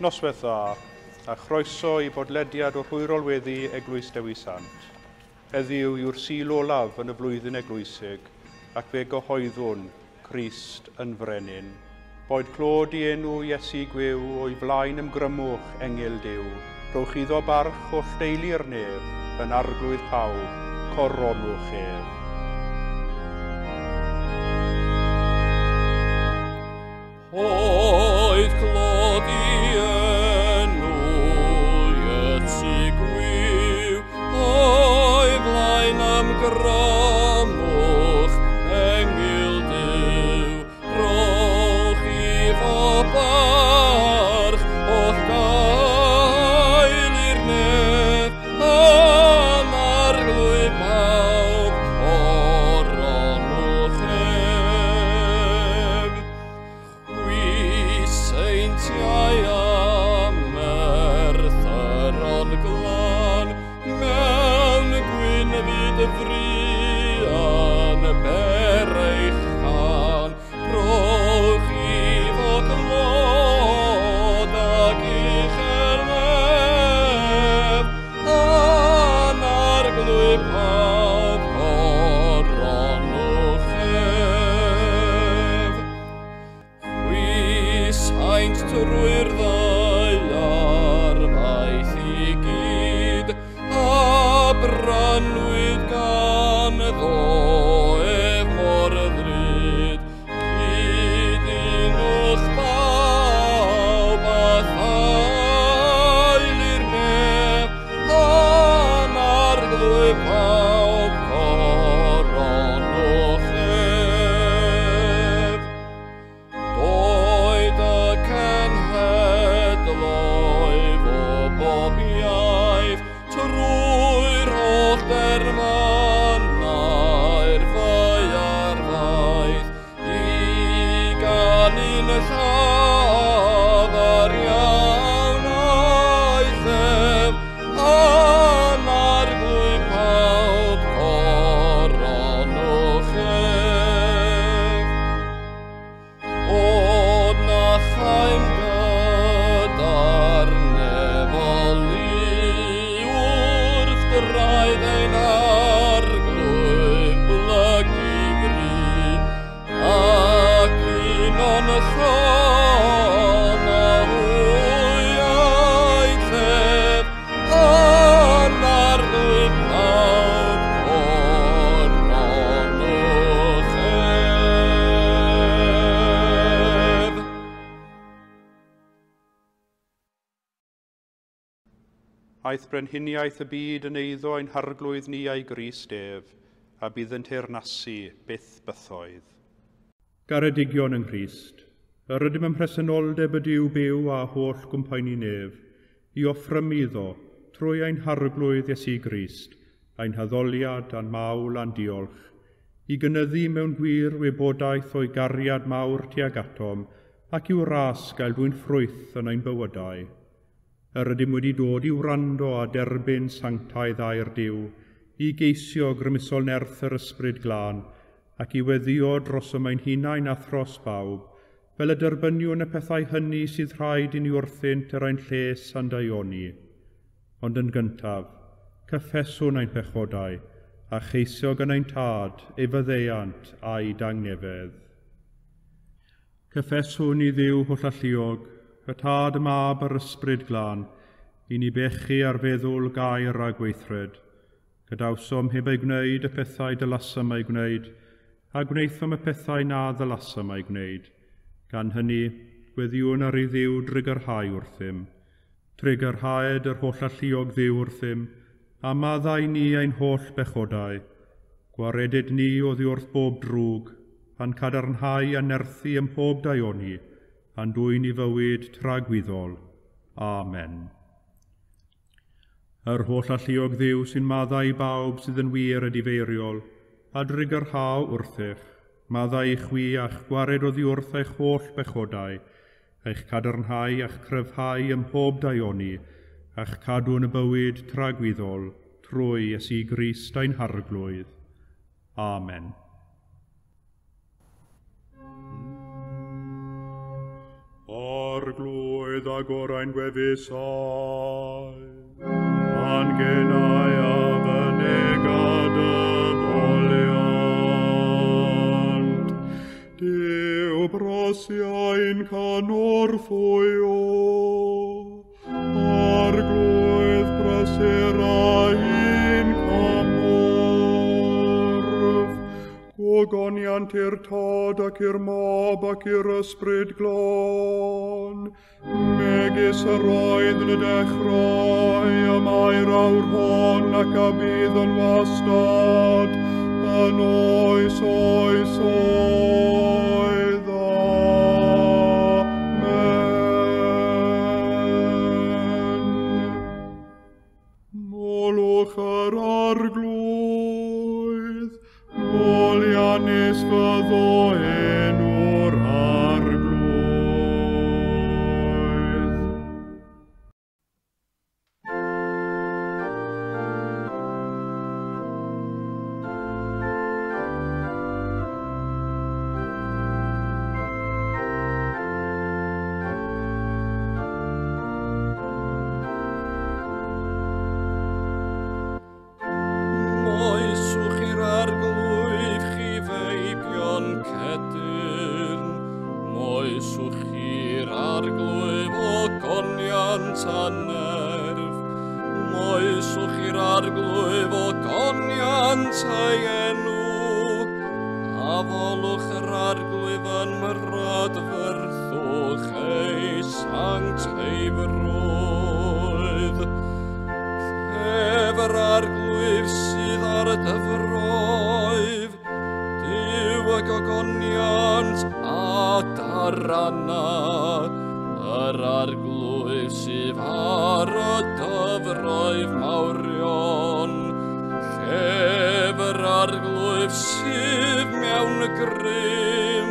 Noswaith dda, a chroeso i bodlediad o'r hwyrol weddi Eglwys Dewi Sant. Heddiw yw'r Sul olaf yn y flwyddyn eglwysig, ac fe gyhoeddwn Crist yn frenin. Boed clod i enw Iesu gwiw o'i flaen ymgrymwch engyl Duw. Rhowch iddo barch holl deulu'r nef, yn arglwydd pawb, coronwch ef. Oedd clod i enw Iesu gwiw, o'i flaen ymgrymwch engyl Duw. Rhowch iddo barch, holl gael i'r nef, yn arglwydd pawb, coronwch ef. Chwi seintiau a merthyron glân, mewn gwynfyd frian ber eich cân. Rhowch iddo glod ac uchel nef, yn arglwydd pawb, coronwch ef. Chwi saint trwy'r ddaear faith i gyd, a brynwyd gan ddo ef mor ddrud. Cyd-unwch bawb a thail i'r nef, yn arglwydd pawb, coronwch ef. Doed y cenhedloedd o bob iaith, trwy'r holl derfynau'r ddaear faith, i ganu'n llafar iawn a'i llef, yn arglwydd pawb, coronwch ef. Od na chaem gyda'r nefol lu wrth draed ein arglwydd blygu fri, ac uno'n llon â hwy a'i llef, yn arglwydd pawb, coronwch ef. Aeth brenhiniaeth y byd yn eiddo ein harglwydd ni a'i Grist ef, a bydd yn teyrnasu byth bythoedd. Garedigion yng Nghrist, yr ydym ym mhresenoldeb y Duw byw a holl gwmpaenu nef, i offrymu iddo, trwy ein harglwydd Iesu Grist, ein haddoliad a'n mawl a'n diolch, i gynyddu mewn gwir wybodaeth o'i gariad mawr tuag atom, ac i'w ras gael dwyn ffrwyth yn ein bywydau. Yr ydym wedi dod i wrando a derbyn sanctaidd air Duw, i geisio grymusol nerth yr ysbryd glân, ac i weddïo drosom ein hunain a thros bawb, fel y derbyniwn y pethau hynny sydd rhaid i ni wrthynt er ein lles a'n daioni. Ond yn gyntaf, cyffeswn ein pechodau, a cheisio gan ein tad ei faddeuant a'i dangnefedd. Cyffeswn i Dduw hollalluog, y Tad, y Mab a'r Ysbryd Glân, i ni bechu ar feddwl, gair a gweithred. Gadawsom heb ei gwneud y pethau dylasam ei gwneud, a gwnaethom y pethau na ddylasam ei gwneud. Gan hynny, gweddiwn ar ei Dduw drugarhau wrthym. Trugarhaed yr hollalluog Dduw wrthym, a maddau ni ein holl bechodau. Gwaredyd ni oddi wrth bob drwg, a'n cadarnhau a nerthu ym mhob daioni, a'n dwyn i fywyd tragwyddol. Amen. Yr holl alluog Dduw sy'n maddau i bawb sydd yn wir edifeiriol, a drugarhau wrthych, maddau i chwi a'ch gwared oddi wrth eich holl bechodau, eich cadarnhau a'ch cryfhau ym mhob daioni, a'ch cadw yn y bywyd tragwyddol, trwy Iesu Grist ein harglwydd. Amen. Arglwydd agor ein gwefusau, a'n genau a fynega dy foliant. Duw brasia ein cynorthwyo, Arglwydd brysura ein cymorth. Gogoniant i'r Tad ac i'r Mab ac i'r Ysbryd Glân, megis yr oedd yn y dechrau, y mae'r awr hon ac a bydd yn wastad, yn oes oes oedd. Amen. Molwch yr Arglwydd, moliannus fyddo enw'r Arglwydd. Moeswch i'r Arglwydd chi feibion cedyrn, moeswch i'r Arglwydd ogoniant a nerf, moeswch i'r Arglwydd ogoniant ei enw, a folwch yr Arglwydd yn mrydferthwch ei sancteiddrwydd. Ef yr Arglwydd sydd ar y dyfroedd, Duw y gogoniant a darana, yr Arglwydd sydd ar y dyfroedd mawrion. Llef yr Arglwydd sydd mewn grym,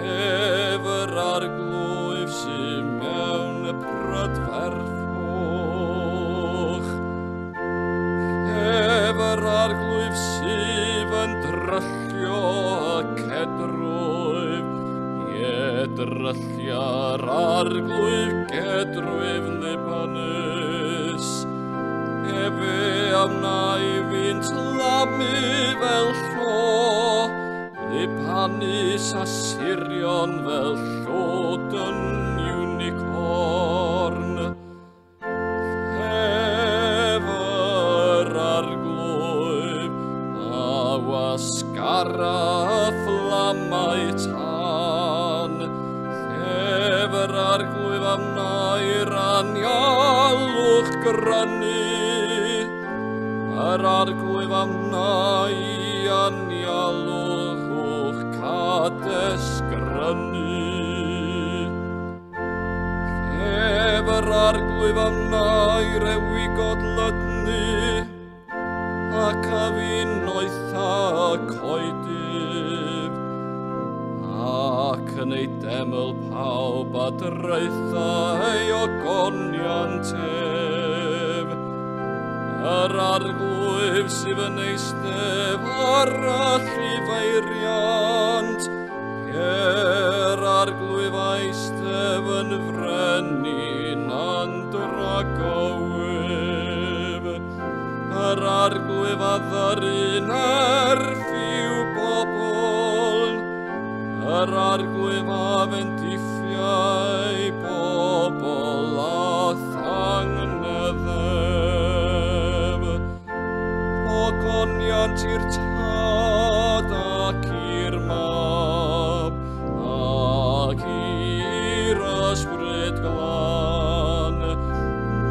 llef yr Arglwydd sydd mewn prydferthwch. Llef yr Arglwydd sydd yn dryllio y cedrwydd, ie dryllia'r Arglwydd gedrwydd Libanus. Efe a wnai fynt lamu fel llo, Libanus a Sirion fel llwyd yn unicorn. Llef yr Arglwydd a wasgara fflamau tân, llef yr Arglwydd a wnai'r anialwch grynu, yr Arglwydd a wnai anialwch Cades grynu. Llef yr Arglwydd a wnai rewigod lydnu, ac a finoetha coedydd, ac yn ei deml pawb a draetha ei ogoniant ef. Yr Arglwydd sydd yn eistedd ar y llifeiriant, yr Arglwydd eistedd yn frenin andragowydd. Yr Arglwydd a ddyru'n erth i'w bobl, yr Arglwydd a fendithiau bobl a thangnefedd. Ogoniant i'r Tad ac i'r Mab ac i'r Ysbryd Glân,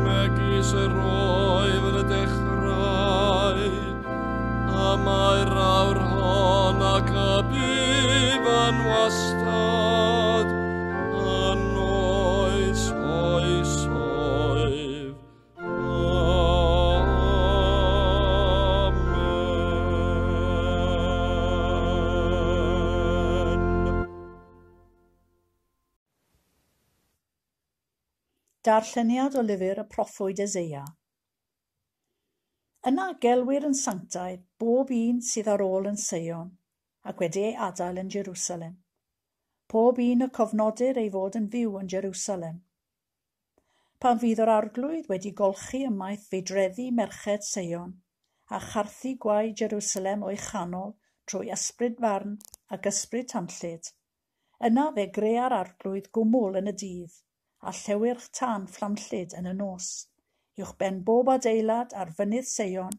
megis yr oedd yn y dechrau, a mae'r awr hon ac y bydd yn wastad, yn oes oesoedd. Amen. Darlleniad o lyfr y proffwyd Eseia. Yna gelwir yn sanctaidd bob un sydd ar ôl yn Seion ac wedi ei adael yn Jerusalem. Pob un y cofnodir ei fod yn fyw yn Jerusalem. Pan fydd yr Arglwydd wedi golchi ymaith feidreddi merched Seion a charthu gwaed Jerusalem o'i chanol trwy ysbryd farn ac ysbryd tanllyd, yna fe grea'r Arglwydd gwmwl yn y dydd a llewyrch tân fflamllyd yn y nos, uwchben bob adeilad ar fynydd Seion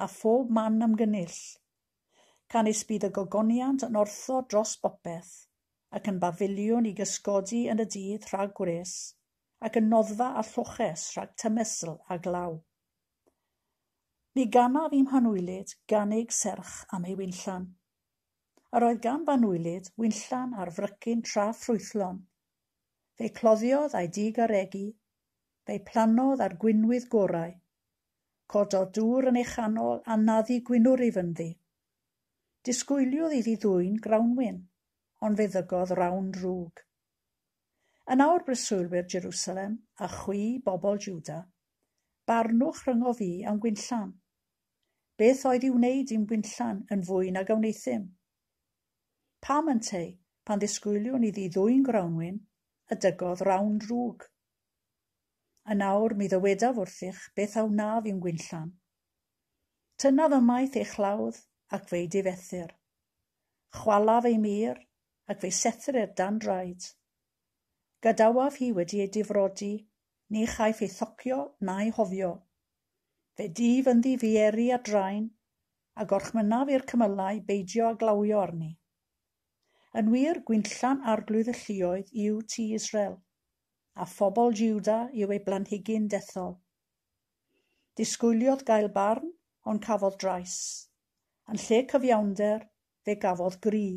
a phob man ymgynnull. Canys bydd y gogoniant yn ortho dros bopeth, ac yn bafiliwn i gysgodi yn y dydd rhag gwres, ac yn noddfa a lloches rhag tymestl a glaw. Mi ganaf i'm hanwylyd ganig serch am ei winllan. Yr oedd gan f'anwylyd winllan ar frycin tra ffrwythlon. Fe'i cloddiodd a'i digaregu, fe'i plannodd ar gwinwydd gorau. Cododd dŵr yn ei chanol a naddu gwinwryf ynddi. Disgwyliodd iddi ddwyn grawnwin, ond fe ddygodd rawn drwg. Yn awr breswylwyr Jerusalem a chwi bobl Juda, barnwch rhyngo fi am gwinllan. Beth oedd i'w wneud i'm gwinllan yn fwy nag a wneuthum? Pam ynteu, pan ddisgwyliwn iddi ddwyn grawnwin, y dygodd rawn drwg? Yn awr mi ddywedaf wrthych beth a wnaf i'm gwinllan. Tynnaf ymaith ei chlawdd ac fe'i difethir. Chwalaf ei mur ac fe'i sethrir dan draed. Gadawaf hi wedi ei difrodi, ni chaiff ei thocio na'i hofio. Fe dif ynddi fieri a draen, a gorchmynnaf i'r cymylau beidio â glawio arni. Yn wir, gwinllan Arglwydd y lluoedd yw tŷ Israel, a phobl Juda yw ei blanhigyn dethol. Disgwyliodd gael barn, ond cafodd drais. Yn lle cyfiawnder, fe gafodd gri.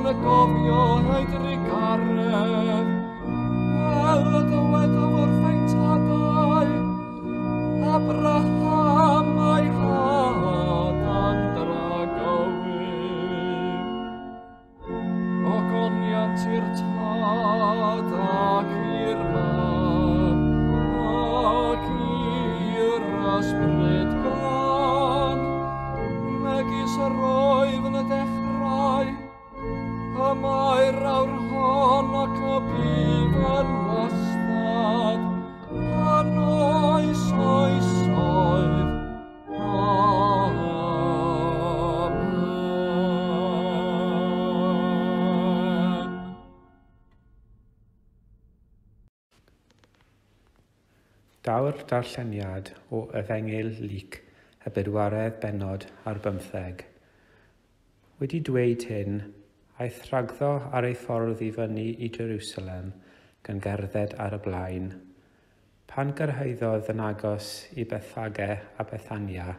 Gan gofio ei drugaredd. Daw'r darlleniad o Efengyl Luc, y 24. Wedi dweud hyn, aeth rhagddo ar ei ffordd i fyny i Jerusalem gan gerdded ar y blaen. Pan gyrhaeddodd yn agos i Bethfage a Bethania,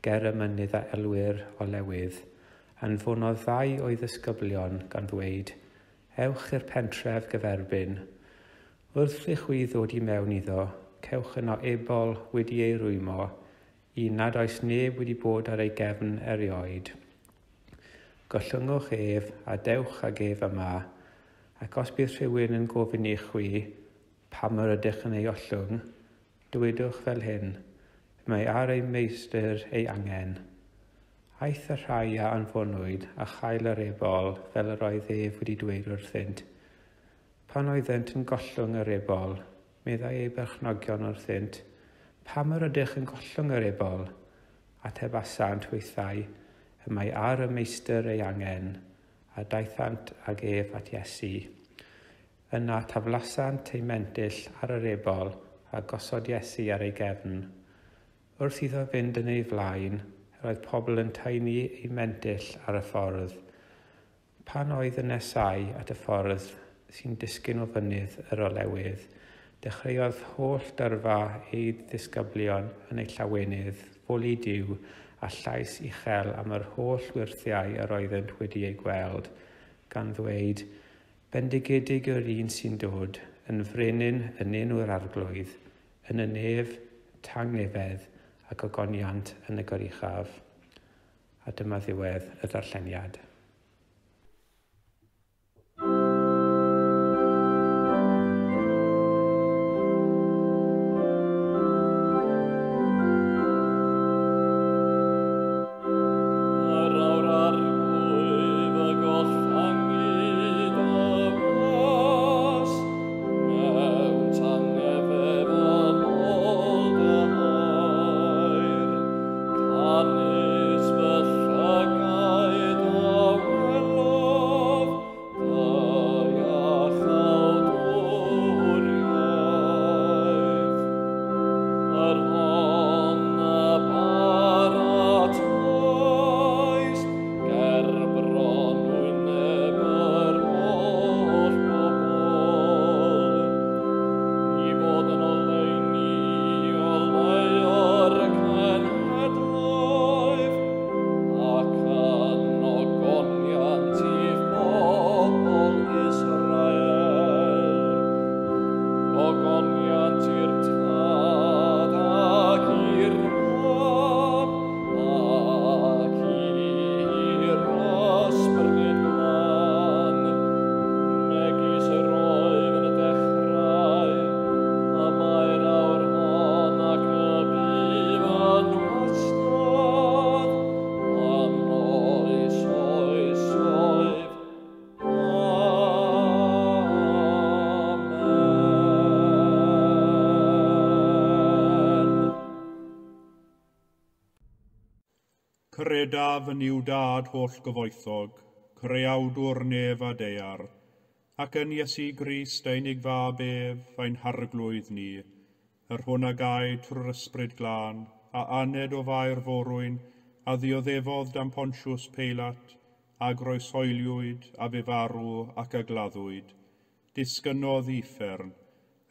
ger y mynydd a elwir Olewydd, anfonodd ddau o'i ddisgyblion gan ddweud, "Ewch i'r pentref gyferbyn. Wrth i chwi ddod i mewn iddo, cewch yno ebol wedi ei rwymo, un nad oes neb wedi bod ar ei gefn erioed. Gollyngwch ef a dewch ag ef yma, ac os bydd rhywun yn gofyn i chwi pam yr ydych yn ei ollwng, dywedwch fel hyn, mae ar ei meistr ei angen." Aeth y rhai a anfonwyd a chael yr ebol fel yr oedd ef wedi dweud wrthynt. Pan oeddent yn gollwng yr ebol, meddai ei berchnogion wrthynt, "Pam yr ydych yn gollwng yr ebol?" Atebasant hwythau, "Y mae ar y meistr ei angen," a daethant ag ef at Iesu. Yna taflasant ei mentyll ar yr ebol a gosod Iesu ar ei gefn. Wrth iddo fynd yn ei flaen, yr oedd pobl yn taenu ei mentyll ar y ffordd. Pan oedd yn nesáu at y ffordd sy'n disgyn o fynydd yr Olewydd, dechreuodd holl dyrfa ei ddisgyblion yn ei llawenydd foli Duw a llais uchel am yr holl wyrthiau yr oeddent wedi eu gweld, gan ddweud, "Bendigedig yw'r un sy'n dod, yn frenin yn enw'r Arglwydd, yn y nef, tangnefedd ac ogoniant yn y goruchaf." A dyma ddiwedd y darlleniad. Credaf yn i'w dad holl gyfoethog, creawdwr nef a daear, ac yn Iesu Grist ein unig fab ef, ein harglwydd ni, yr hwn a gaed trwy'r ysbryd glân, a aned o Fair forwyn, a ddioddefodd dan Pontius Peilat, a groeshoeliwyd, a fe farw ac a gladdwyd. Disgynnodd i uffern,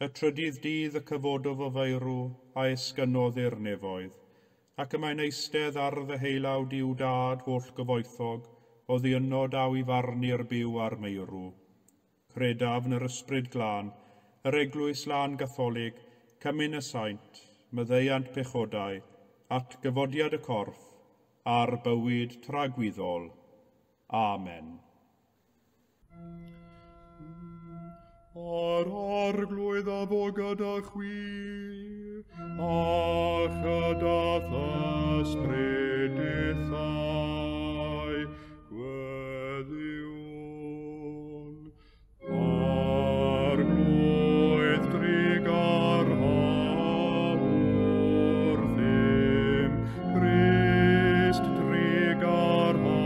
y trydydd dydd y cyfododd o feirw, a esgynnodd i'r nefoedd, ac y mae'n eistedd ar ddeheulaw Duw dad holl gyfoethog, oddi yno daw i farnu'r byw a'r meirw. Credaf yn yr ysbryd glân, yr eglwys lân gatholig, cymun y saint, maddeuant pechodau, at gyfodiad y corff, a'r bywyd tragwyddol. Amen. A'r Arglwydd a fo gyda chwi, a chyda th'ysbryd dithau, gweddïwn. Arglwydd trugarha wrthym, Crist trugarha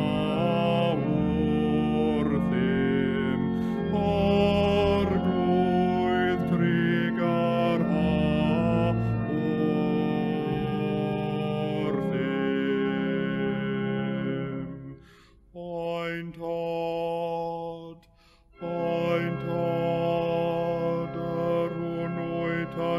wrthym, Arglwydd trugarha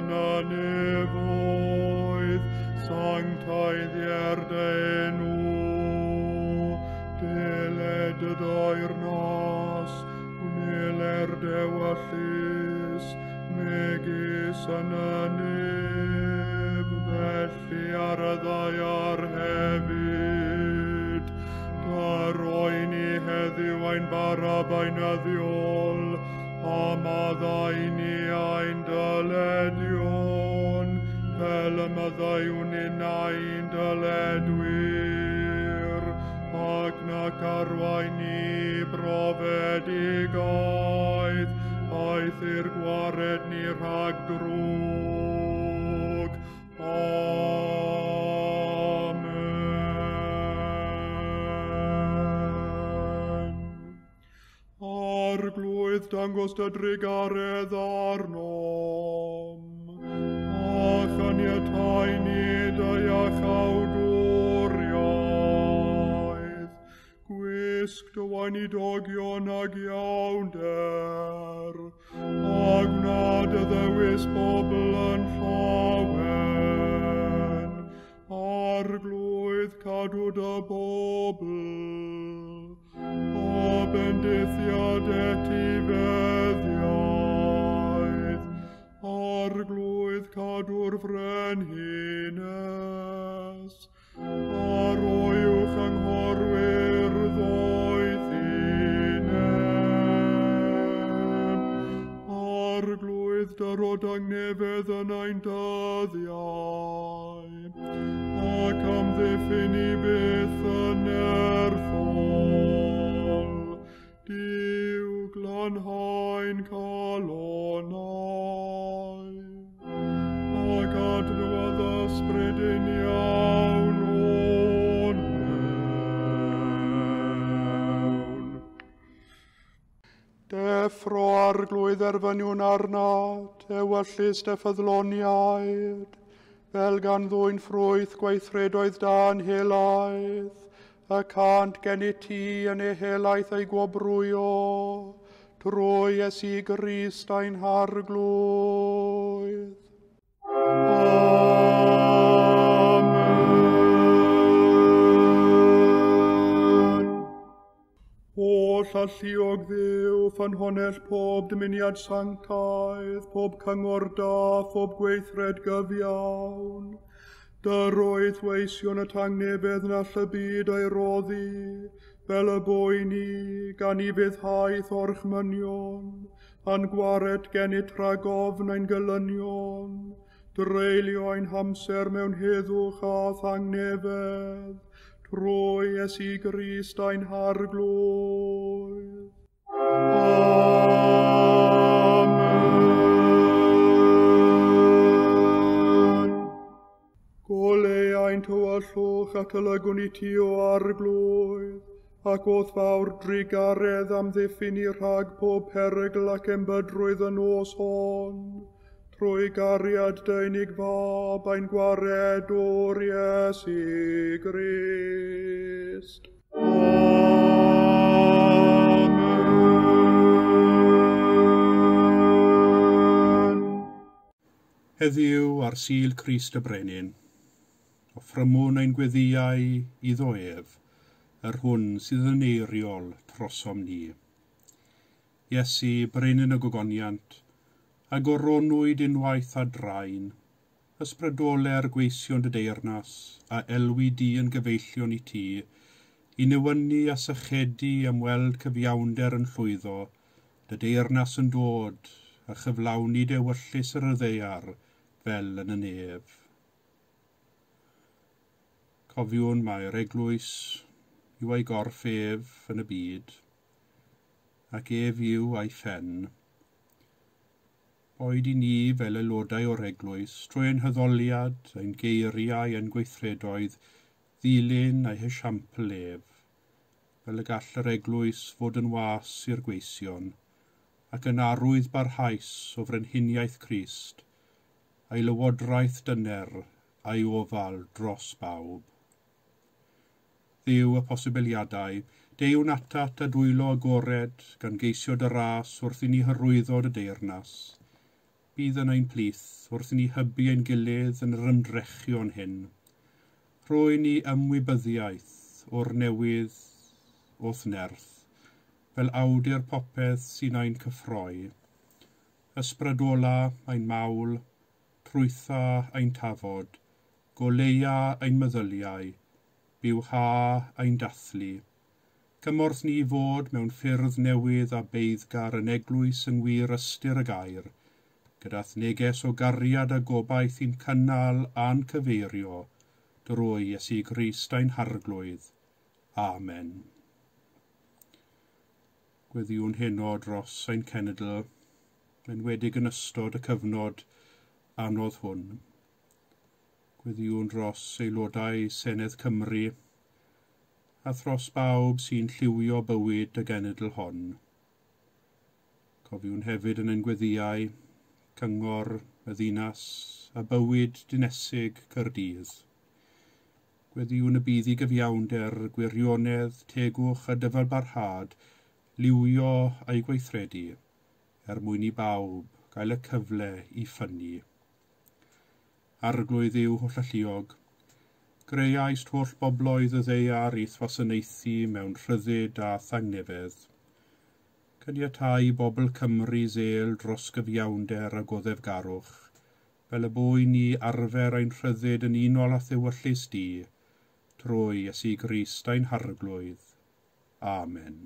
yn y nefoedd, sanctaiddier dy enw, deled dy deyrnas, wneler dewyllys, megis yn y nef, felly ar y ddaear hefyd. Daroi ni heddiw ein bara beunyddiol, a maddau ni ein dyledion, fel y maddeuwn ninnau'n dyledwyr, ac nac arwain ni brofedigaeth, aeth i'r gwared ni rhag drwg. Amen. Arglwydd, dangos dy drugaredd arnom, a chaniatáu ni dy iachawdwriaeth. Gwisg dy weinidogion ag iawnder, a gwna dy ddewis bobl yn llawen. Arglwydd, cadw dy bobl, a bendithiad etifeddiaeth. Arglwydd, cadw'r frenhines, a roi uwch anghorwyr ddoethineb. Arglwydd, dyro dangnefedd yn ein dyddiau, ac amddiffyn i byth yn nerthol. Duw, glanhau'n calonnau, ac adnewyddu ysbryd yn iawn o'n mewn. Deffro, Arglwydd, erfyniwn arnat, ewyllys dy ffyddloniaid, fel gan ddwyn ffrwyth gweithredoedd da'n helaeth, y cant gennyt ti yn ei helaeth ei gwobrwyo, trwy Iesu Grist ein Harglwydd. Amen. Holl alluog Dduw, ffynhonnell pob dymuniad sanctaidd, pob cyngor da, phob gweithred gyfiawn, dyroedd weision y tangnefedd na all y byd ei roddi, fel y boeni, gan i fuddhaeth orchmynion, a'n gwared gennyt rhag ofn ein gelynion, dreulio ein hamser mewn heddwch a thangnefedd, trwy Iesu Grist ein Harglwydd. Amen. Goleu ein tywyllwch at y lygwn i ti o Arglwydd, ac o'th fawr drugaredd amddiffyn i rhag pob perygl ac embydrwydd y nos hon, trwy gariad dy unig fab ein gwaredwr Iesu Grist. Amen. Heddiw ar Sul Crist y Brenin, offrymwn ein gweddïau iddo ef, yr hwn sydd yn eiriol trosom ni. Iesu, Brenin y Gogoniant, a goronwyd unwaith a draen, ysbrydole'r gweision dy deyrnas, a elwi di yn gyfeillion i ti, i newynu a sychedu am weld cyfiawnder yn llwyddo, dy deyrnas yn dod, a chyflawni dewyllys yr ddaear fel yn y nef. Cofiwn mai'r eglwys yw ei gorff ef yn y byd, ac ef yw ei phen. Boed i ni fel aelodau o'r eglwys, trwy ein haddoliad, ein geiriau, ein gweithredoedd, ddilyn ei hesiampl ef, fel y gall yr eglwys fod yn was i'r gweision, ac yn arwydd barhaus o frenhiniaeth Crist, a'i lywodraeth dyner a'i ofal dros bawb. Dduw y posibiliadau, deuwn atat a dwylo agored gan geisio dy ras wrth i ni hyrwyddo dy deyrnas. Bydd yn ein plith wrth i ni hybu ein gilydd yn yr ymdrechion hyn. Rhoi ni ymwybyddiaeth o'r newydd o'th nerth, fel awdur popeth sy'n ein cyffroi. Ysbrydola ein mawl, trwytha ein tafod, goleia ein meddyliau, bywha ein dathlu. Cymorth ni fod mewn ffyrdd newydd a beiddgar yn eglwys yng ngwir ystyr y gair, gyda'th neges o gariad a gobaith i'n cynnal a'n cyfeirio drwy Iesu Grist ein Harglwydd. Amen. Gweddïwn heno dros ein cenedl, enwedig yn ystod y cyfnod anodd hwn. Gweddïwn dros aelodau Senedd Cymru a thros bawb sy'n lliwio bywyd y genedl hon. Cofiwn hefyd yn ein gweddïau, cyngor y ddinas a bywyd dinesig Caerdydd. Gweddïwn y bydd i gyfiawnder, gwirionedd, tegwch a dyfalbarhad liwio a'i gweithredu, er mwyn i bawb gael y cyfle i ffynnu. Arglwydd yw hollalluog. Greuaist holl bobloedd y ddaear i'th wasanaethu mewn rhyddid a thangnefedd. Caniatáu bobl Cymru zel dros gyfiawnder a goddefgarwch, fel y bo i ni arfer ein rhyddid yn unol â thewyllys di, trwy Iesu Grist ein Harglwydd. Amen.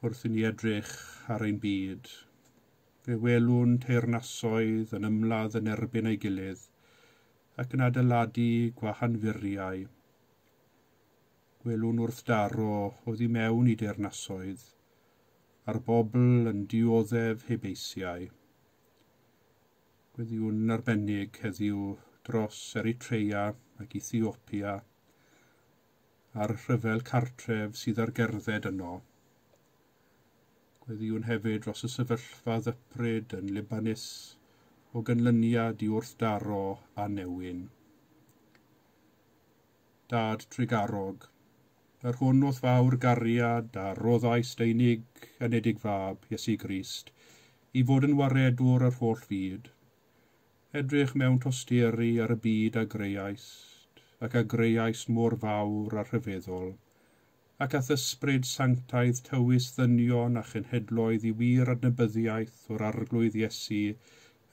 Wrth i ni edrych ar ein byd, fe welwn teyrnasoedd yn ymladd yn erbyn ei gilydd ac yn adeiladu gwahanfuriau. Gwelwn wrth daro oddi mewn i deyrnasoedd, a'r bobl yn dioddef heb eisiau. Gweddïwn yn arbennig heddiw dros Eritrea ac Ethiopia a'r rhyfel cartref sydd ar gerdded yno. Gweddïwn hefyd dros y sefyllfa ddypryd yn Libanus o ganlyniad i wrthdaro a newyn. Dad trugarog, yr hwn o'th fawr gariad a roddaist unig anedig fab, Iesu Grist, i fod yn waredwr yr holl fyd. Edrych mewn tosturi ar y byd a greuaist, ac a greuaist mor fawr a rhyfeddol, ac a'th ysbryd sanctaidd tywys ddynion a chenhedloedd i wir adnabyddiaeth o'r Arglwydd Iesu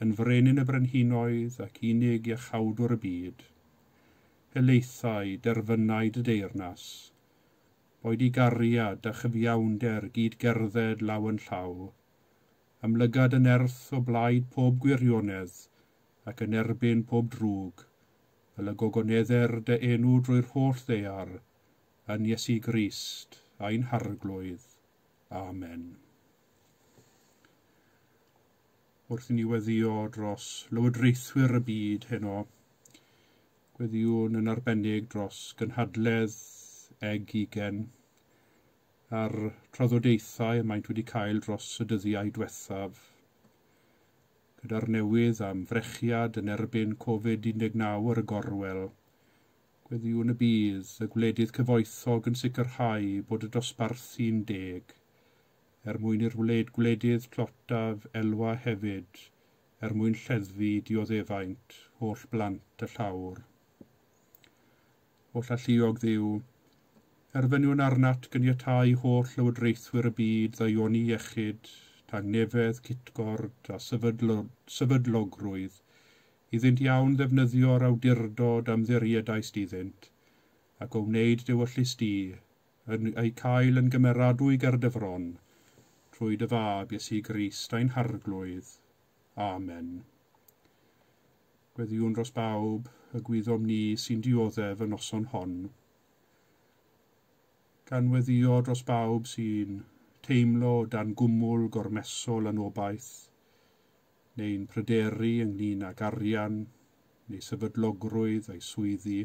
yn frenin y brenhinoedd ac unig iachawdwr y byd. Helaethau derfynau dy deyrnas, boed i gariad a chyfiawnder gyd gerdded law yn llaw, amlygad yn nerth o blaid pob gwirionedd ac yn erbyn pob drwg, fel y gogonedder dy enw drwy'r holl ddaear, yn Iesu Grist, ein Harglwydd. Amen. Wrth i ni weddïo dros lywodraethwyr y byd heno, gweddïwn yn arbennig dros gynhadledd G20 a'r trafodaethau y maent wedi cael dros y dyddiau diwethaf. Gyda'r newydd am frechiad yn erbyn Covid-19 ar y gorwel, gweddïwn y bydd y gwledydd cyfoethog yn sicrhau bod y dosbarthu'n deg, er mwyn i'r gwledydd tlotaf elwa hefyd, er mwyn lleddfu dioddefaint holl blant y llawr. Holl alluog Dduw, erfyniwn arnat gyniatáu holl lywodraethwyr y byd ddaioni iechyd, tangnefedd, cytgord a sefydlogrwydd, iddynt iawn ddefnyddio'r awdurdod am ddiriedaist iddynt, ac o wneud dewyllys di, yn eu cael yn gymeradwy ger dy fron, trwy dy fab Iesu Grist ein Harglwydd. Amen. Gweddïwn dros bawb y gwyddom ni sy'n dioddef y noson hon. Gan weddïo dros bawb sy'n teimlo dan gwmwl gormesol anobaith, neu'n pryderu ynglyn ag arian neu sefydlogrwydd a'i swyddi.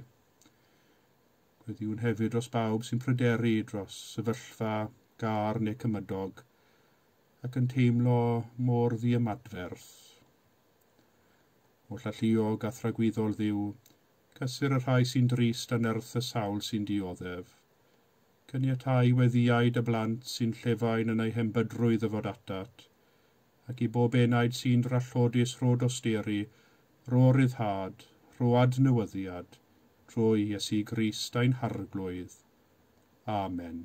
Gweddïwn hefyd dros bawb sy'n pryderu dros sefyllfa, gar neu cymydog, ac yn teimlo mor ddiymadferth. Holl alluog a thragwyddol Dduw, cysur y rhai sy'n drist a nerth y sawl sy'n dioddef. Caniatáu weddïau dy blant sy'n llefain yn eu hembydrwydd y fod atat, Ac i bob enaid sy'n drallodus rho dosturi, rho ryddhad, rho adnewyddiad, trwy Iesu Grist ein Harglwydd. Amen.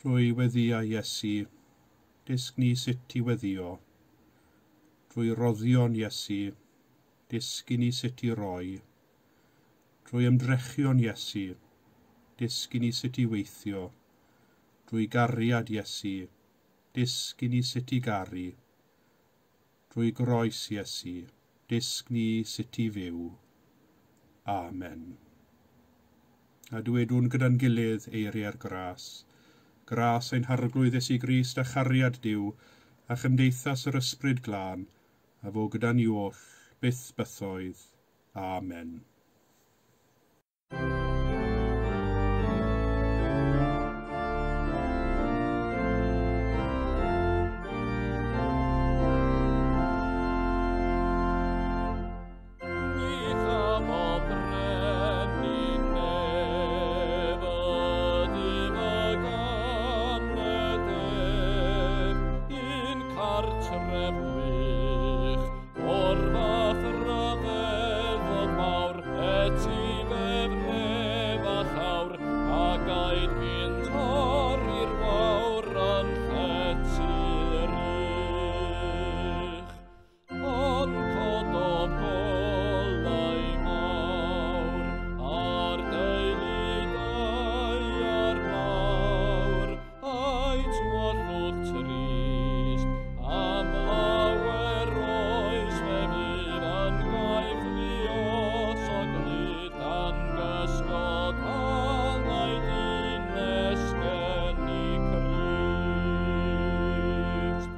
Drwy weddïau Iesu, dysg ni sut i weddïo. Drwy roddion Iesu, dysg i ni sut i roi. Drwy ymdrechion Iesu, dysg i ni sut i weithio. Drwy gariad Iesu, dysg i ni sut i garu. Drwy groes Iesu, dysg ni sut i fyw. Amen. A dwedwn gyda'n gilydd eiriau'r gras. Gras ein Harglwydd Iesu Grist a chariad Duw a chymdeithas yr Ysbryd Glân, a fo gyda ni oll, byth bythoedd. Amen. Ni chafodd brenin nef ydym y gan y def, un cartref gwych, o'r fath ryfeddod mawr, etifedd nef a llawr, a gaed gynt i'r wawr yn llety'r uch. Ond cododd golau mawr ar deulu daear mawr, a'i tywyllwch trist, am lawer oes fe fydd yn gaeth luos o glud, dan gysgod angau dynes geni Crist.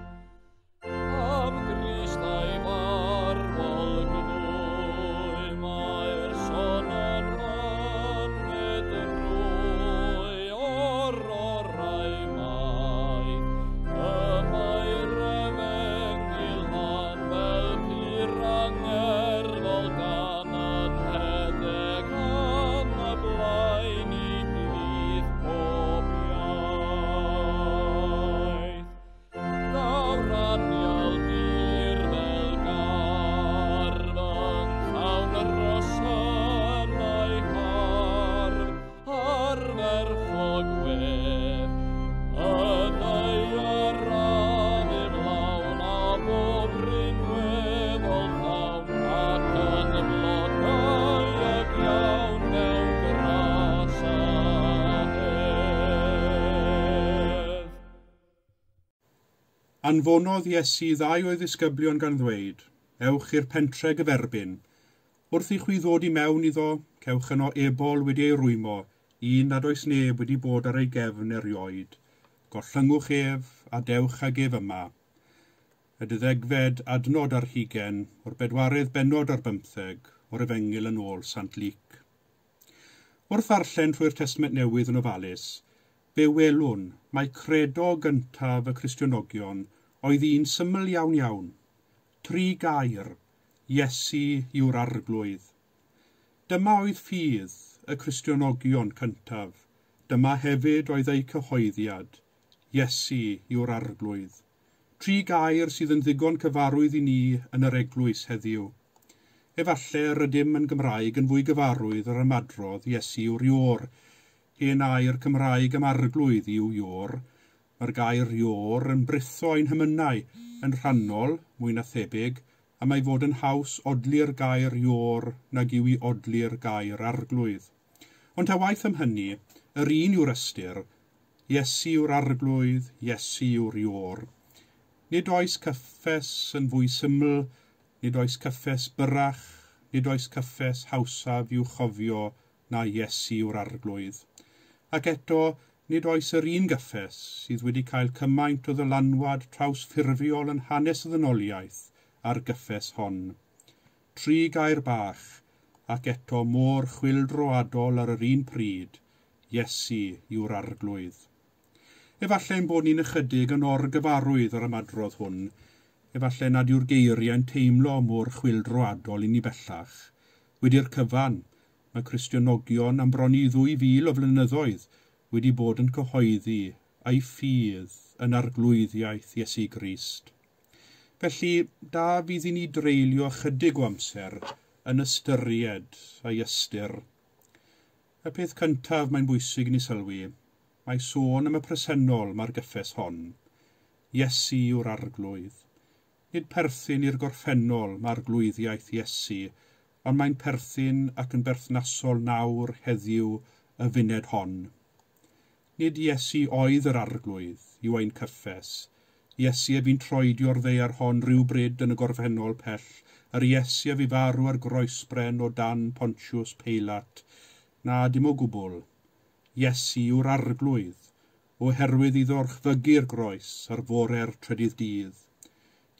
Am Grist a'i farwol gnwy, mae'r son yn myned drwy o'r orau maith. Y mae'r efengyl lan fel pur angerddol gan yn hedeg yn y blaen i blith pob iaith. Daw'r anial dir fel gardd yn llawn rhosynau hardd, ardderchog wedd. Y ddaear a ddiflawn a bob rhinweddol llawn, ac yn blodeuog iawn mewn gras a hedd. Anfonodd Iesu ddau o'i ddisgyblion gan ddweud, ewch i'r pentre gyferbyn. Wrth i chwi ddod i mewn iddo, cewch yno ebol wedi ei rwymo, un nad oes neb wedi bod ar ei gefn erioed. Gollyngwch ef a dewch ag ef yma. Y 12fed adnod ar hugain o'r 4edd bennod ar 15 o'r Efengyl yn ôl Sant Luc. Wrth ddarllen trwy'r Testament Newydd yn ofalus, fe welwn mai credo gyntaf y Cristionogion oedd un syml iawn iawn. Tri gair, Iesu yw'r Arglwydd. Dyma oedd ffydd y Cristionogion cyntaf. Dyma hefyd oedd eu cyhoeddiad. Iesu yw'r Arglwydd. Tri gair sydd yn ddigon cyfarwydd i ni yn yr eglwys heddiw. Efallai rydym yn Gymraeg yn fwy gyfarwydd yr ymadrodd Iesu yw'r Iôr. Hen air Cymraeg am arglwydd yw Iôr. Mae'r gair Iôr yn britho ein hymynau yn rhannol, mwy na thebyg, a mae fod yn haws odli'r gair Iôr nag yw i odli'r gair arglwydd. Ond ta waeth am hynny, yr un yw'r ystyr, Iesu yw'r arglwydd, Iesu yw'r Iôr. Nid oes cyffes yn fwy syml, nid oes cyffes byrrach, nid oes cyffes hawsaf i'w chofio na Iesu yw'r arglwydd. Ac eto, nid oes yr un gyffes sydd wedi cael cymaint o ddylanwad trawsffurfiol yn hanes y ddynoliaeth a'r gyffes hon. Tri gair bach, ac eto mor chwyldroadol ar yr un pryd, Iesu yw'r arglwydd. Efallai ein bod ni'n ychydig yn orgyfarwydd ar ymadrodd hwn, efallai nad yw'r geiriau'n teimlo mor chwyldroadol i ni bellach. Wedi'r cyfan, mae Cristionogion am bron i 2000 o flynyddoedd wedi bod yn cyhoeddi a'i ffydd yn arglwyddiaeth Iesu Grist. Felly, da fydd i ni dreulio ychydig o amser yn ystyried a'i ystyr. Y peth cyntaf mae'n bwysig i ni sylwi, mae sôn am y presennol mae'r gyffes hon. Iesu yw'r arglwydd. Nid perthyn i'r gorffennol mae'r arglwyddiaeth Iesu, ond mae'n perthyn ac yn berthnasol nawr heddiw y funed hon. Nid Iesu oedd yr arglwydd yw ein cyffes. Iesu a fi'n troedio'r ddaear hon rhywbryd yn y gorffennol pell, yr Iesu a fi farw ar groesbren o dan Pontius Peilat. Na, dim o gwbl. Iesu yw'r arglwydd, oherwydd iddo orchfygu'r groes ar fore'r trydydd dydd.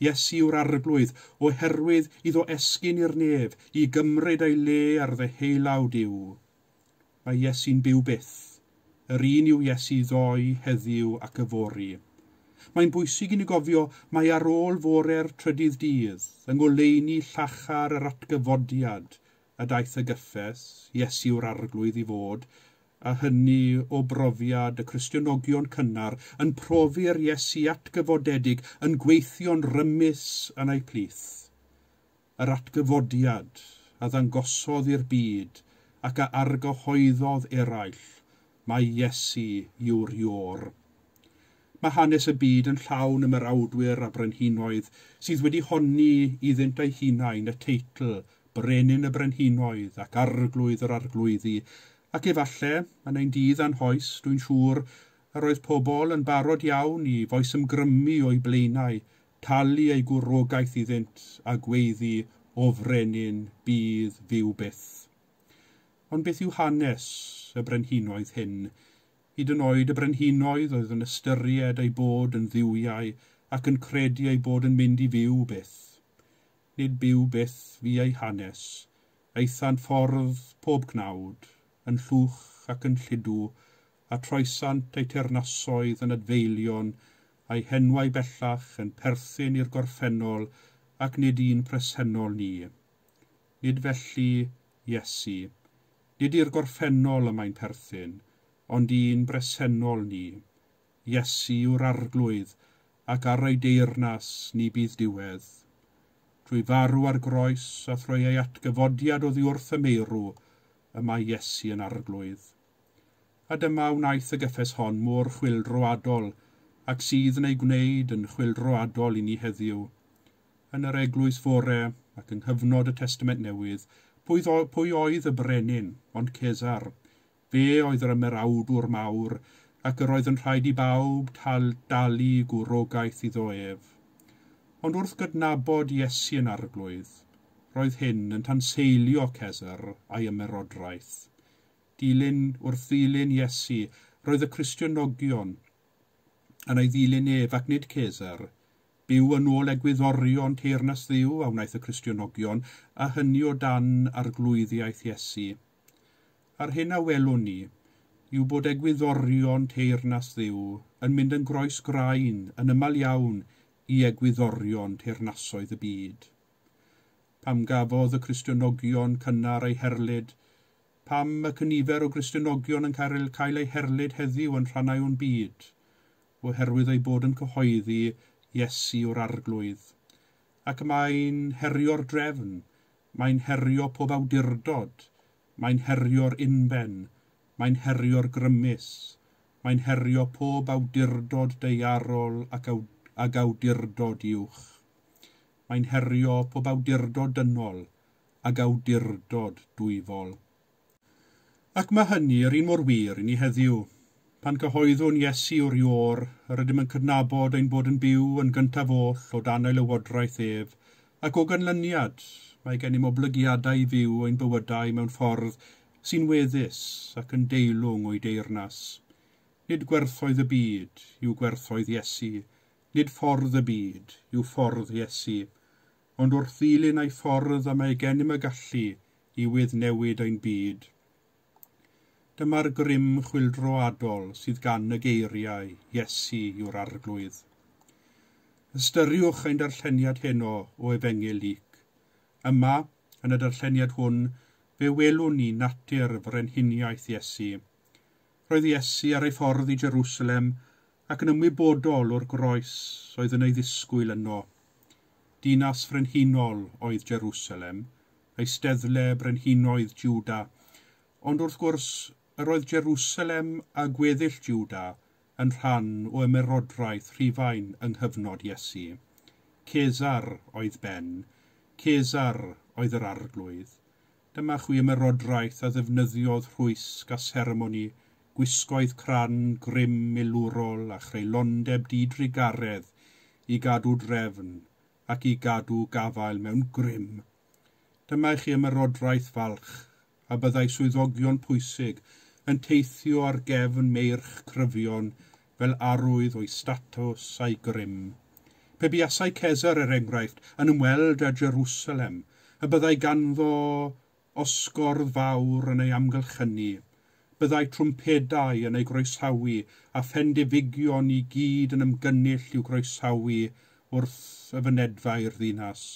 Iesu yw'r arglwydd, oherwydd iddo esgyn i'r nef, i gymryd ei le ar ddeheulaw Duw. Mae Iesu'n byw byth. Yr un yw Iesu ddoe, heddiw ac yfory. Mae'n bwysig i ni gofio mai ar ôl fore'r trydydd dydd, yng ngoleuni llachar yr atgyfodiad a daeth y gyffes, Iesu yw'r arglwydd i fod, a hynny o brofiad y Cristionogion cynnar yn profi'r Iesu atgyfodedig yn gweithio'n rymus yn eu plith. Yr atgyfodiad a ddangosodd i'r byd ac a argyhoeddodd eraill, mae Iesu yw'r Iôr. Mae hanes y byd yn llawn ymerawdwyr a brenhinoedd sydd wedi honni iddynt eu hunain y teitl Brenin y Brenhinoedd ac Arglwydd yr Arglwyddi, ac efallai, yn ein dydd a'n hoes, dwi'n siŵr, yr oedd pobl yn barod iawn i foesymgrymu o'u blaenau, talu eu gwrogaeth iddynt a gweiddi o frenin bydd fyw byth. Ond beth yw hanes y brenhinoedd hyn? Hyd yn oed y brenhinoedd oedd yn ystyried eu bod yn dduwiau ac yn credu eu bod yn mynd i fyw byth. Nid byw byth fu eu hanes. Aethant ffordd pob cnawd, yn llwch ac yn lludw, a troesant eu teyrnasoedd yn adfeilion, a'u henwau bellach yn perthyn i'r gorffennol ac nid un presennol ni. Nid felly Iesu. Nid i'r gorffennol y mae'n perthyn, ond un bresennol ni. Iesu yw'r arglwydd, ac ar ei deyrnas ni bydd diwedd. Trwy farw ar groes a thrwy ei atgyfodiad oddi wrth y meirw, y mae Iesu yn arglwydd. A dyma wnaeth y gyffes hon mor chwyldroadol, ac sydd yn ei gwneud yn chwyldroadol i ni heddiw. Yn yr eglwys fore ac yng nghyfnod y Testament Newydd, pwy oedd y brenin, ond Cesar? Fe oedd yr ymerawdwr mawr, ac yr oedd yn rhaid i bawb dalu gwrogaeth iddo ef. Ond wrth gydnabod Iesu yn arglwydd, roedd hyn yn tanseilio Cesar a'i ymerodraeth. Wrth ddilyn Iesu, roedd y Cristionogion yn ei ddilyn ef ac nid Cesar. Byw yn ôl egwyddorion teyrnas Dduw a wnaeth y Cristionogion, a hynny o dan arglwyddiaeth Iesu. A'r hyn a welwn ni yw bod egwyddorion teyrnas Dduw yn mynd yn groes graen yn ymyl iawn i egwyddorion teyrnasoedd y byd. Pam gafodd y Cristionogion cynnar eu herlid? Pam y cynifer o Gristionogion yn cael eu herlid heddiw yn rhannau o'n byd? Oherwydd eu bod yn cyhoeddi Iesu yw'r arglwydd. Ac mae'n herio'r drefn, mae'n herio pob awdurdod, mae'n herio'r unben, mae'n herio'r grymus, mae'n herio pob awdurdod daearol ac awdurdod uwch. Mae'n herio pob awdurdod dynol ac awdurdod dwyfol. Ac mae hynny yr un mor wir i ni heddiw. Pan cyhoeddwn Iesu yw'r Iôr, yr ydym yn cydnabod ein bod yn byw yn gyntaf oll o dan ei lywodraeth ef, ac o ganlyniad mae gennym oblygiadau i fyw ein bywydau mewn ffordd sy'n weddus ac yn deilwng o'i deyrnas. Nid gwerthoedd y byd yw gwerthoedd Iesu, nid ffordd y byd yw ffordd Iesu, ond wrth ddilyn ei ffordd y mae gennym y gallu i weddnewid ein byd. Dyma'r grym chwyldroadol sydd gan y geiriau Iesu yw'r arglwydd. Ystyriwch ein darlleniad heno o Efengyl Luc. Yma, yn y darlleniad hwn, fe welwn ni natur frenhiniaeth Iesu. Roedd Iesu ar ei ffordd i Jerusalem ac yn ymwybodol o'r groes oedd yn ei ddisgwyl yno. Dinas frenhinol oedd Jerusalem, eisteddle brenhinoedd Juda, ond wrth gwrs yr oedd Jerusalem a gweddill Juda yn rhan o ymerodraeth Rhufain yng nghyfnod Iesu. Cesar oedd ben, Cesar oedd yr arglwydd. Dyma chwi ymerodraeth a ddefnyddiodd rhwysg a seremoni, gwisgoedd cran, grym milwrol a chreulondeb didrugaredd i gadw drefn ac i gadw gafael mewn grym. Dyma i chi ymerodraeth falch, a byddai swyddogion pwysig yn teithio ar gefn meirch cryfion fel arwydd o'i statws a'i grym. Pe buasai Cesar, er enghraifft, yn ymweld â Jerusalem, y byddai ganddo osgordd fawr yn ei amgylchynu, byddai trwmpedau yn ei groesawu a phendefigion i gyd yn ymgynnull i'w groesawu wrth y fynedfa i'r ddinas.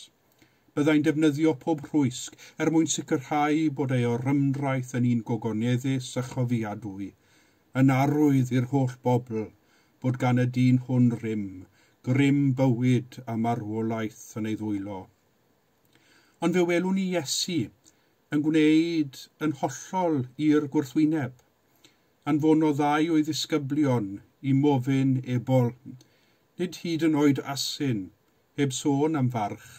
Byddai'n defnyddio pob rhwysg er mwyn sicrhau bod ei orymdraeth yn un gogoneddus a chofiadwy, yn arwydd i'r holl bobl bod gan y dyn hwn rym, grym bywyd a marwolaeth yn ei ddwylo. Ond fe welwn ni Iesu yn gwneud yn hollol i'r gwrthwyneb. Anfonodd ddau o'i ddisgyblion i mofyn ebol, nid hyd yn oed asyn, heb sôn am farch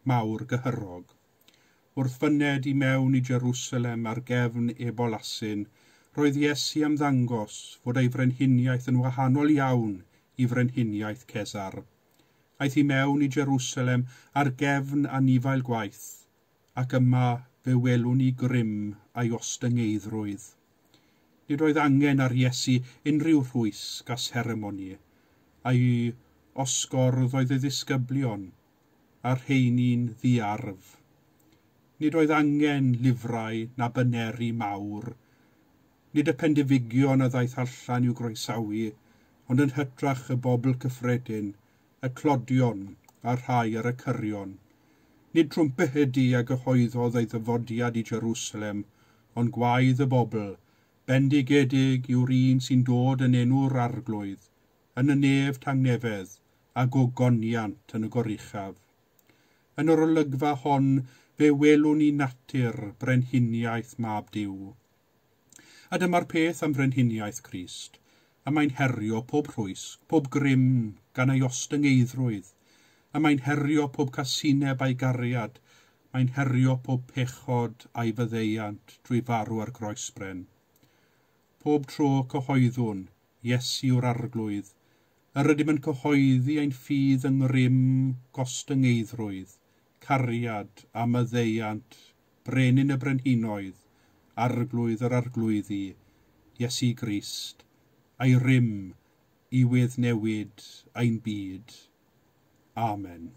mawr gyhyrog. Wrth fyned i mewn i Jerusalem ar gefn ebol asyn, roedd Iesu am ddangos fod ei frenhiniaeth yn wahanol iawn i frenhiniaeth Cesar. Aeth i mewn i Jerusalem ar gefn anifail gwaith, ac yma fe welwn ni grym a'i ostyngeiddrwydd. Nid oedd angen ar Iesu unrhyw rhwysg a seremoni, a'i osgordd oedd ei ddisgyblion, a'r rheini'n ddiarf. Nid oedd angen lifrau na baneri mawr. Nid y pendefigion a ddaeth allan i'w groesawu, ond yn hytrach y bobl cyffredin, y clodion a'r rhai ar y cyrion. Nid trwmpedi a gyhoeddodd ei ddyfodiad i Jerusalem, ond gwaedd y bobl, bendigedig yw'r un sy'n dod yn enw'r arglwydd, yn y nef tangnefedd a gogoniant yn y goruchaf. Yn yr olygfa hon, fe welwn ni natur brenhiniaeth mab Duw. A dyma'r peth am frenhiniaeth Crist, a mae'n herio pob rhwysg, pob grym gan ei ostyngeiddrwydd, a mae'n herio pob casineb a'i gariad, mae'n herio pob pechod a'i faddeuant drwy farw ar groesbren. Pob tro cyhoeddwn, Iesu yw'r arglwydd, yr ydym yn cyhoeddi ein ffydd yng ngrym gostyngeiddrwydd, cariad a maddeuant, brenin y brenhinoedd, arglwydd yr arglwyddi, Iesu Grist, a'i rym i weddnewid ein byd. Amen.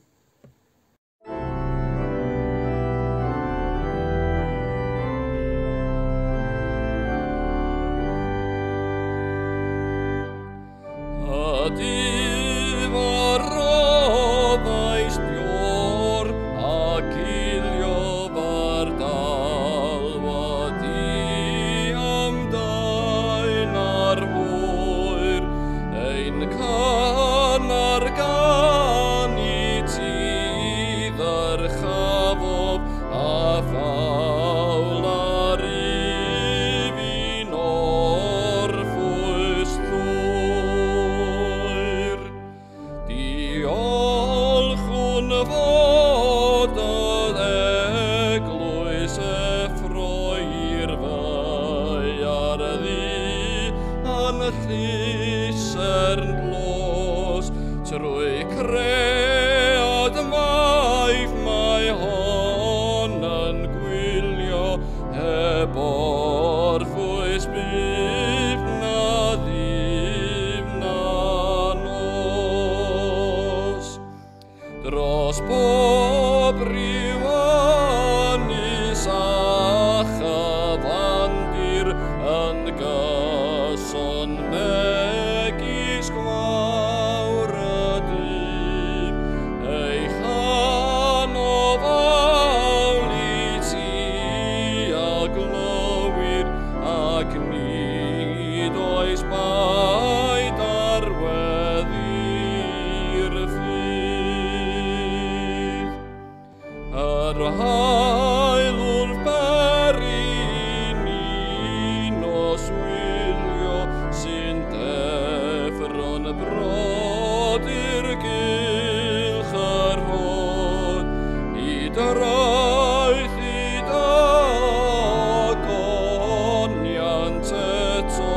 Trwy cread maith mae hon yn gwylio heb orffwys byth na ddydd na nos. Dros bob rhyw ynys a chyfandir yn gyson megis gwawr y dydd, ei chanodd awl i ti a glywir, ac nid oes baid ar Yr haul wrth beri ni noswylio sy'n deffro'n brodyr gylch yr hod i draeth i dagoniant eto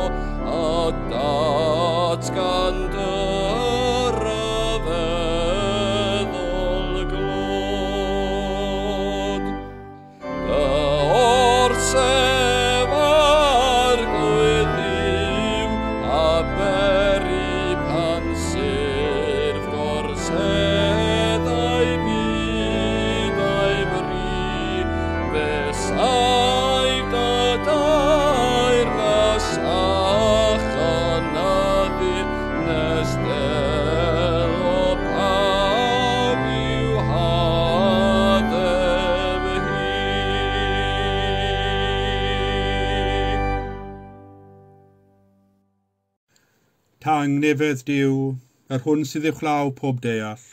a datgan dy ryfeddol glod. Dy orsef Arglwydd yw a beri pan syrff gorseddau byd a'i bri, fe saif dy deyrnas a chynyddu nes delo pawb i'w haddef hi. Tangnefedd Duw, yr hwn sydd uwchlaw pob deall,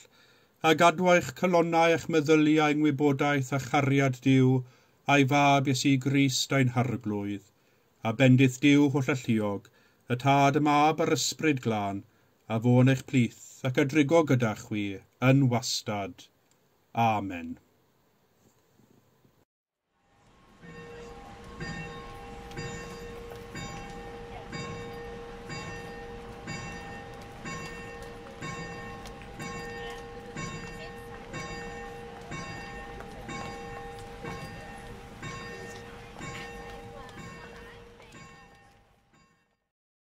a gadw eich calonnau a'ch meddyliau yng ngwybodaeth a chariad Duw, a'i fab Iesu Grist ein harglwydd, a bendith Duw hollalluog, y Tad, y Mab a'r Ysbryd Glân, a fo yn eich plith ac a drigo gyda chwi yn wastad. Amen.